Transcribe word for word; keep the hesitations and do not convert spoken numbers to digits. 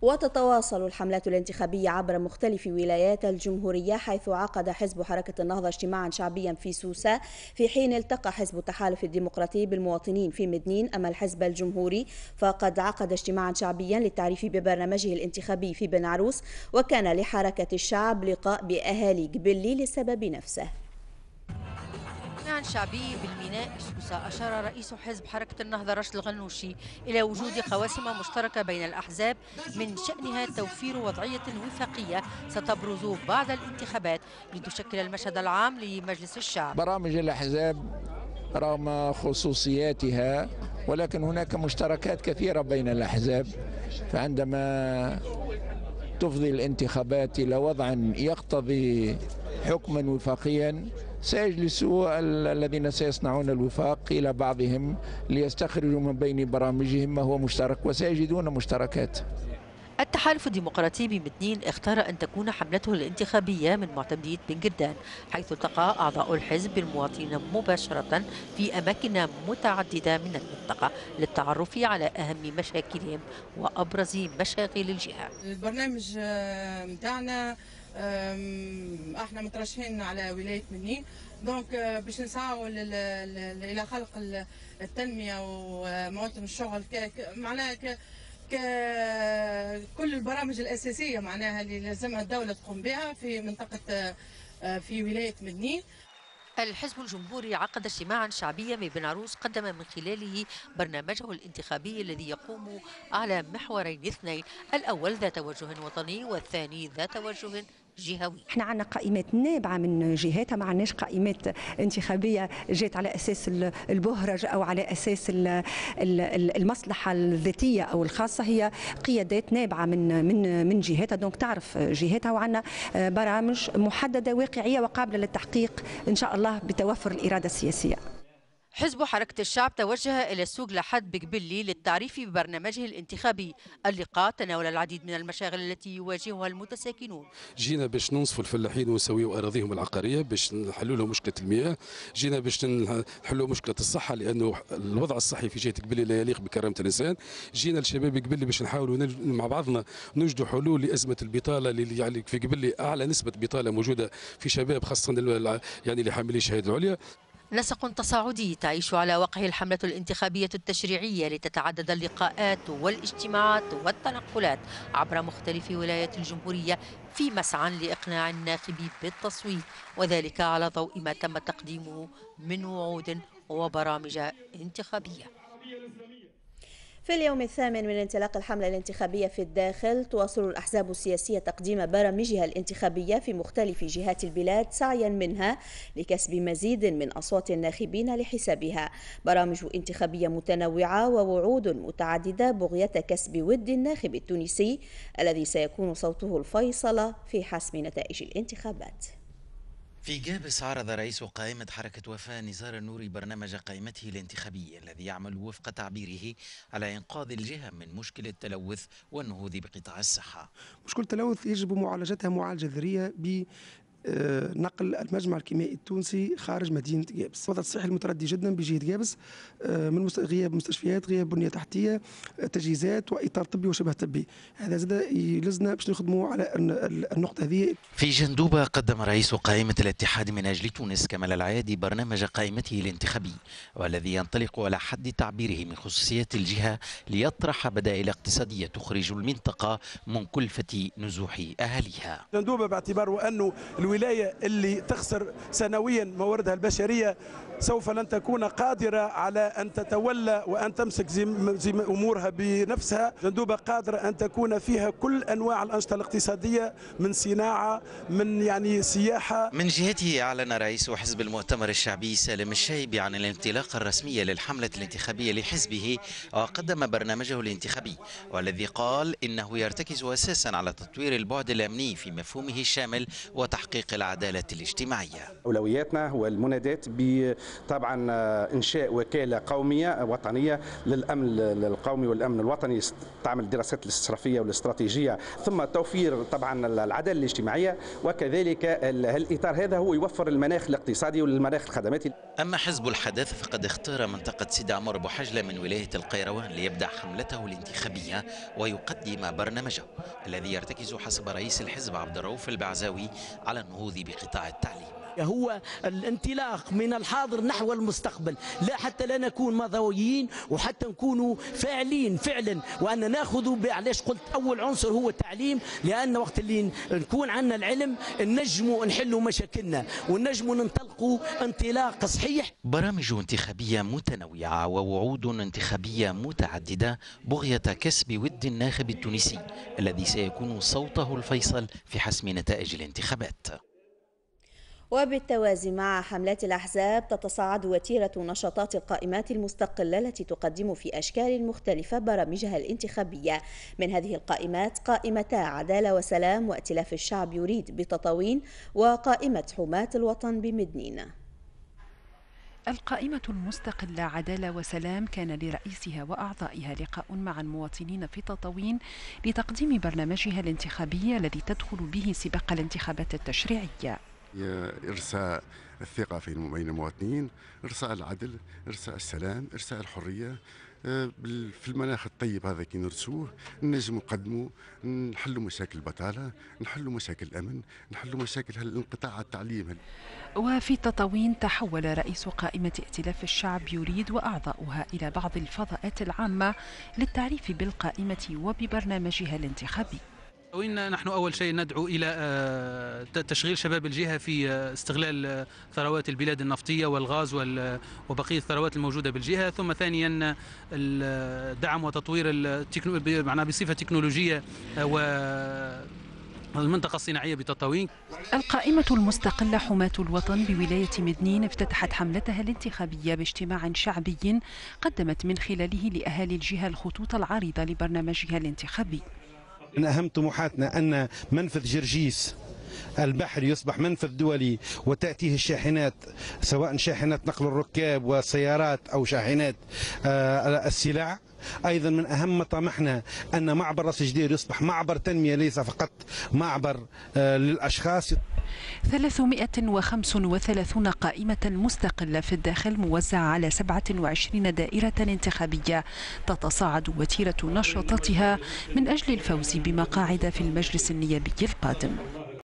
وتتواصل الحملات الانتخابية عبر مختلف ولايات الجمهورية، حيث عقد حزب حركة النهضة اجتماعا شعبيا في سوسة، في حين التقى حزب التحالف الديمقراطي بالمواطنين في مدنين. أما الحزب الجمهوري فقد عقد اجتماعا شعبيا للتعريف ببرنامجه الانتخابي في بن عروس، وكان لحركة الشعب لقاء بأهالي قبلي للسبب نفسه. اجتماع شعبي بالميناء سوسة، أشار رئيس حزب حركة النهضة راشد الغنوشي إلى وجود قواسم مشتركة بين الأحزاب من شأنها توفير وضعية وفاقية ستبرز بعد الانتخابات لتشكل المشهد العام لمجلس الشعب. برامج الأحزاب رغم خصوصياتها ولكن هناك مشتركات كثيرة بين الأحزاب، فعندما تفضي الانتخابات إلى وضع يقتضي حكما وفاقيا سيجلس الذين سيصنعون الوفاق إلى بعضهم ليستخرجوا من بين برامجهم ما هو مشترك، وسيجدون مشتركات. التحالف الديمقراطي بمدنين اختار أن تكون حملته الانتخابية من معتمدية بن قردان، حيث التقى أعضاء الحزب بالمواطنين مباشرة في أماكن متعددة من المنطقة للتعرف على أهم مشاكلهم وأبرز مشاغل الجهة. البرنامج متاعنا احنا مترشحين على ولاية مدنين، donc باش نسعوا الى خلق التنمية ومواطن الشغل، معناها كل البرامج الاساسية معناها اللي لازمها الدولة تقوم بها في منطقة في ولاية مدنين. الحزب الجمهوري عقد اجتماعا شعبيا ببن عروس قدم من خلاله برنامجه الانتخابي الذي يقوم على محورين اثنين، الأول ذا توجه وطني والثاني ذا توجه جهوي. احنا عندنا قائمات نابعة من جهاتها، ما عندناش قائمات انتخابية جات على اساس البهرج او على اساس المصلحة الذاتية او الخاصة، هي قيادات نابعة من من من جهاتها، donc تعرف جهاتها، وعندنا برامج محددة واقعية وقابله للتحقيق ان شاء الله بتوفر الارادة السياسية. حزب حركة الشعب توجه إلى السوق لحد بقبلي للتعريف ببرنامجه الانتخابي. اللقاء تناول العديد من المشاغل التي يواجهها المتساكنون. جينا باش ننصفوا الفلاحين ونسويوا أراضيهم العقارية باش نحلوا لهم مشكلة المياه، جينا باش نحلوا مشكلة الصحة لأنه الوضع الصحي في جهة قبلي لا يليق بكرامة الإنسان، جينا لشباب قبلي باش نحاولوا مع بعضنا نوجدوا حلول لأزمة البطالة اللي يعني في قبلي أعلى نسبة بطالة موجودة في شباب خاصة يعني اللي حاملين الشهادة العليا. نسق تصاعدي تعيش على وقعه الحملة الانتخابية التشريعية لتتعدد اللقاءات والاجتماعات والتنقلات عبر مختلف ولايات الجمهورية في مسعى لإقناع الناخب بالتصويت، وذلك على ضوء ما تم تقديمه من وعود وبرامج انتخابية. في اليوم الثامن من انطلاق الحملة الانتخابية في الداخل، تواصل الأحزاب السياسية تقديم برامجها الانتخابية في مختلف جهات البلاد سعيا منها لكسب مزيد من أصوات الناخبين لحسابها. برامج انتخابية متنوعة ووعود متعددة بغية كسب ود الناخب التونسي الذي سيكون صوته الفيصل في حسم نتائج الانتخابات. في جابس عرض رئيس قائمة حركة وفاء نزار النوري برنامج قائمته الانتخابي الذي يعمل وفق تعبيره على إنقاذ الجهة من مشكلة التلوث والنهوض بقطاع الصحة. مشكلة التلوث يجب معالجتها معالجة ذرية ب نقل المجمع الكيميائي التونسي خارج مدينة جابس. الوضع الصحي المتردي جدا بجهة جابس من غياب مستشفيات، غياب بنية تحتية، تجهيزات وإطار طبي وشبه طبي. هذا زاد يلزنا باش نخدموا على النقطة هذه. في جندوبة قدم رئيس قائمة الاتحاد من أجل تونس كمال العيادي برنامج قائمته الانتخابي والذي ينطلق على حد تعبيره من خصوصيات الجهة ليطرح بدائل اقتصادية تخرج المنطقة من كلفة نزوح أهاليها. جندوبة باعتباره أنه الولاية اللي تخسر سنويا مواردها البشرية سوف لن تكون قادرة على أن تتولى وأن تمسك زم زم أمورها بنفسها. جندوبة قادرة أن تكون فيها كل أنواع الأنشطة الاقتصادية من صناعة من يعني سياحة. من جهته أعلن رئيس حزب المؤتمر الشعبي سالم الشايبي عن الانطلاقة الرسمية للحملة الانتخابية لحزبه وقدم برنامجه الانتخابي والذي قال إنه يرتكز أساسا على تطوير البعد الأمني في مفهومه الشامل وتحقيق العدالة الاجتماعية. أولوياتنا هو المنادات طبعا إنشاء وكالة قومية وطنية للأمن القومي والأمن الوطني تعمل الدراسات الاستشرافية والاستراتيجية، ثم توفير طبعا العدالة الاجتماعية، وكذلك الإطار هذا هو يوفر المناخ الاقتصادي والمناخ الخدماتي. أما حزب الحداثة فقد اختار منطقة سيدي عمر بوحجلة من ولاية القيروان ليبدأ حملته الانتخابية ويقدم برنامجه الذي يرتكز حسب رئيس الحزب عبد الرؤوف البعزاوي على النهوض بقطاع التعليم. هو الانطلاق من الحاضر نحو المستقبل، لا حتى لا نكون ماضويين وحتى نكونوا فاعلين فعلا، وأن ناخذ، علاش قلت أول عنصر هو التعليم، لأن وقت اللي نكون عندنا العلم نجموا نحلوا مشاكلنا ونجموا ننطلقوا انطلاق صحيح. برامج انتخابية متنوعة ووعود انتخابية متعددة بغية كسب ود الناخب التونسي الذي سيكون صوته الفيصل في حسم نتائج الانتخابات. وبالتوازي مع حملات الأحزاب تتصاعد وتيرة نشاطات القائمات المستقلة التي تقدم في أشكال مختلفة برامجها الانتخابية. من هذه القائمات قائمتا عدالة وسلام وائتلاف الشعب يريد بتطاوين وقائمة حماة الوطن بمدنين. القائمة المستقلة عدالة وسلام كان لرئيسها وأعضائها لقاء مع المواطنين في تطاوين لتقديم برنامجها الانتخابي الذي تدخل به سباق الانتخابات التشريعية. إرساء الثقة في بين المواطنين، إرساء العدل، إرساء السلام، إرساء الحرية. في المناخ الطيب هذا كي نرسوه نجم نقدموا، نحلوا مشاكل البطالة، نحلوا مشاكل الأمن، نحلوا مشاكل الانقطاع على التعليم. وفي تطاوين تحول رئيس قائمة ائتلاف الشعب يريد وأعضاؤها إلى بعض الفضاءات العامة للتعريف بالقائمة وببرنامجها الانتخابي. وإن نحن أول شيء ندعو إلى تشغيل شباب الجهة في استغلال ثروات البلاد النفطية والغاز وبقية الثروات الموجودة بالجهة، ثم ثانيا دعم وتطوير التكنو... معناها بصفة تكنولوجية و المنطقة الصناعية بتطاوين. القائمة المستقلة حماة الوطن بولاية مدنين افتتحت حملتها الانتخابية باجتماع شعبي قدمت من خلاله لأهالي الجهة الخطوط العريضة لبرنامجها الانتخابي. من أهم طموحاتنا أن منفذ جرجيس البحري يصبح منفذ دولي وتأتيه الشاحنات، سواء شاحنات نقل الركاب والسيارات أو شاحنات السلع. أيضا من أهم مطامحنا أن معبر راس جدير يصبح معبر تنمية ليس فقط معبر للأشخاص. ثلاثمائة وخمس وثلاثون قائمة مستقلة في الداخل موزعة على سبعة وعشرين دائرة انتخابية تتصاعد وتيرة نشاطاتها من أجل الفوز بمقاعد في المجلس النيابي القادم.